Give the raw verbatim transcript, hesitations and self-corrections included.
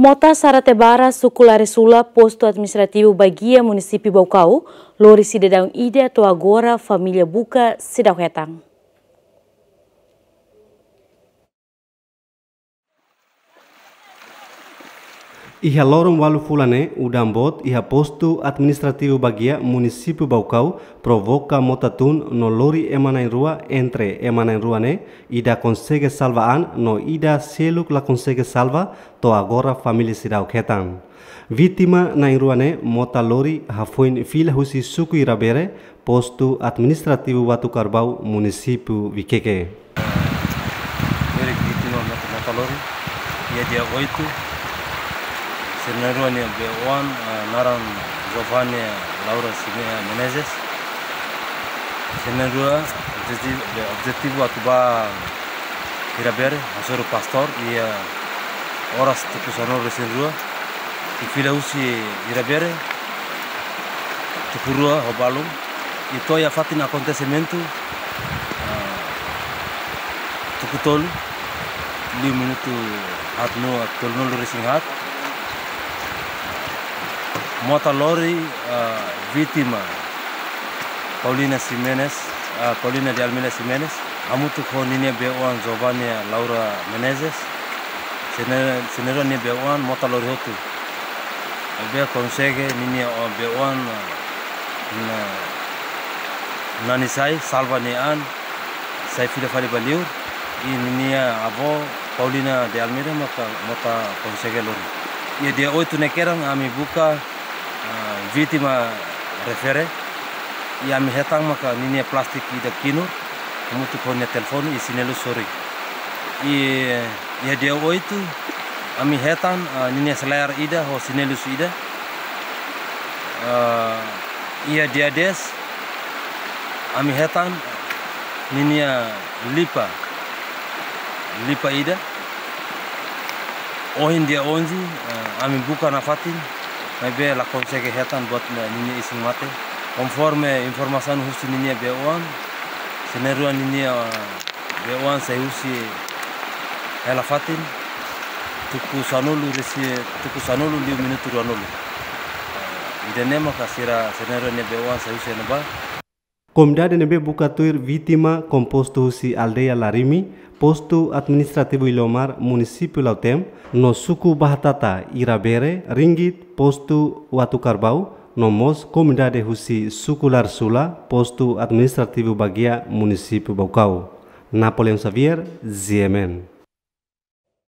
Mota Sarate Barak, suku Laresula, postu administrativu Baguia, munisípiu Baucau, lori sidadaun ida to'o agora família buka seidauk hetan. Iha loron ualu fulan ne'e, udan boot iha postu administrativu Baguia, munisípiu Baucau, provoka mota tun no lori ema na'in-rua. Entre ema na'in-rua ne'e, ida konsege salva an no ida seluk la konsege salva, to'o agora família seidauk hetan. Vítima na'in-rua ne'e mota lori hafoin fila husi suku Irabere, postu administrativu Uatucarbau, munisípiu Viqueque. Erik vítima mota, mota lori iha dia oitu. Sira na'in-rua nia bee-oan, ah, naran Giovania Laura Sime-, Menezes. Sira na'in-rua objetivu, be, objetivu atu bá Irabere hasoru pastór iha oras tuku sanulu-resin-rua. I fila husi Irabere tuku rua ho balun. I to'o iha fatin akontesimentu, ah, tuku tolu, liu minutu haat no tolunulu-resin-haat. Mota lori, ah, vítima Paulina Ximenes, ah, Paulina de Almeida Ximenes, hamutuk ho ninia bee-oan Giovania Laura Menezes. Sira na'in-, sira na'in-rua nia bee-oan mota lori hotu. Ne'ebé konsege ninia, oh, bee-oan, ah, na, nani sai, salva nia an, sai fila fali ba liur. I ninia avó Paulina de Almeida maka mota konsege lori. Iha dia oitu ne'e kedan ami buka, ah, vítima refere. I ami hetan maka ninia plástiku ida kinur, hamutuk ho nia telefone i xinelu sorin. I iha dia oitu, ami hetan, ah, ninia selear ida ho xinelus ida. Ah, iha dia dez, ami hetan ninia lipa, lipa ida. Ohin dia onze, ah, ami buka nafatin, maibé la konsege hetan buat ninia isin-mate. Konforme informasaun husi ninia bee-oan, sira na'in-rua ninia, ah, bee-oan sai husi hela fatin, tuku sanulu-resin, tuku sanulu liu minutu ruanulu. Ida-ne'e maka sira, sira na'in-rua nia bee-oan sai husi ne'ebá. Komunidade ne'ebé buka tuir vítima kompostu husi aldeia Larimi, postu administrativu Iliomar, munisípiu Lautém, no suku Bahatata, Irabere, Ringgit, postu Uatucarbau, no mós komunidade husi suku Laresula, postu administrativu Baguia, munisípiu Baucau. Napoleão Xavier, G M N.